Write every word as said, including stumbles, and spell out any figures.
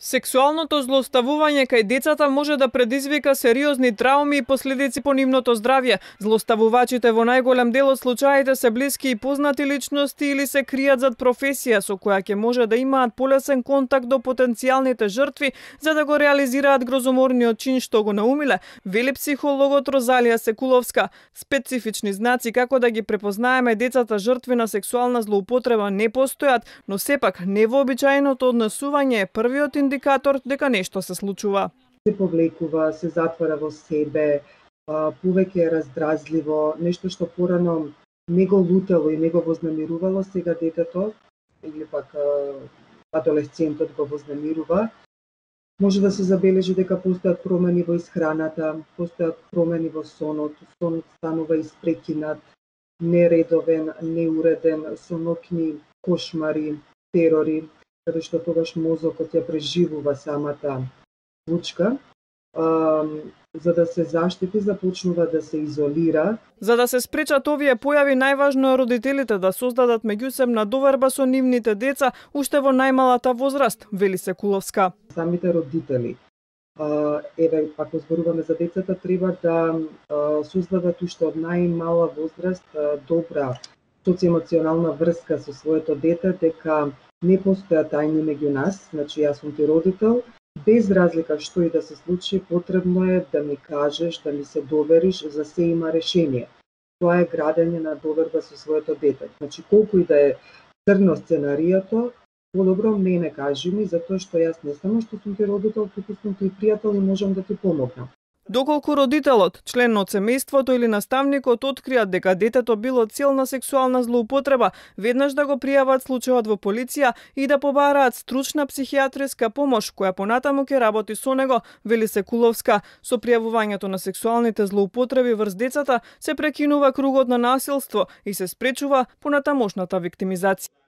Сексуалното злоставување кај децата може да предизвика сериозни трауми и последици по нивното здравје. Злоставувачите во најголем дел од случаите се блиски и познати личности или се кријат зад професија со која ќе може да имаат полесен контакт до потенцијалните жртви за да го реализираат грозоморниот чин што го наумиле, вели психологот Розалија Секуловска. Специфични знаци како да ги препознаеме децата жртви на сексуална злоупотреба не постојат, но сепак невообичаеното однесување е првиот индикатор дека нешто се случува. Се повлекува, се затвара во себе, повеќе е раздразливо, нешто што порано не го лутело и не го вознамирувало, сега детето или пак адолесцентот го вознамирува. Може да се забележи дека постојат промени во исхраната, постојат промени во сонот, сонот станува испрекинат, нередовен, неуреден, со ноќни кошмари, терори, каде што тогаш мозокот ја преживува самата случка. А, за да се заштити, започнува да се изолира. За да се спречат овие појави, најважно е родителите да создадат меѓусебна доверба со нивните деца уште во најмалата возраст, вели Секуловска. Самите родители, а, еве, ако зборуваме за децата, треба да а, создадат уште од најмала возраст а, добра социјемоционална врска со своето дете, дека не постоја тајни меѓу нас, значи јас сум ти родител, без разлика што и да се случи, потребно е да ми кажеш, да ми се довериш, за се има решение. Тоа е градење на доверба со своето дете. Значи, колку и да е црно сценариото, подобро мене кажи ми, затоа што јас не само што сум ти родител, туку сум ти пријател и можам да ти помогнам. Доколку родителот, член од семејството или наставникот откријат дека детето било цел на сексуална злоупотреба, веднаш да го пријават случајот во полиција и да побараат стручна психијатриска помош која понатаму ќе работи со него, вели Секуловска. Со пријавувањето на сексуалните злоупотреби врз децата се прекинува кругот на насилство и се спречува понатамошната виктимизација.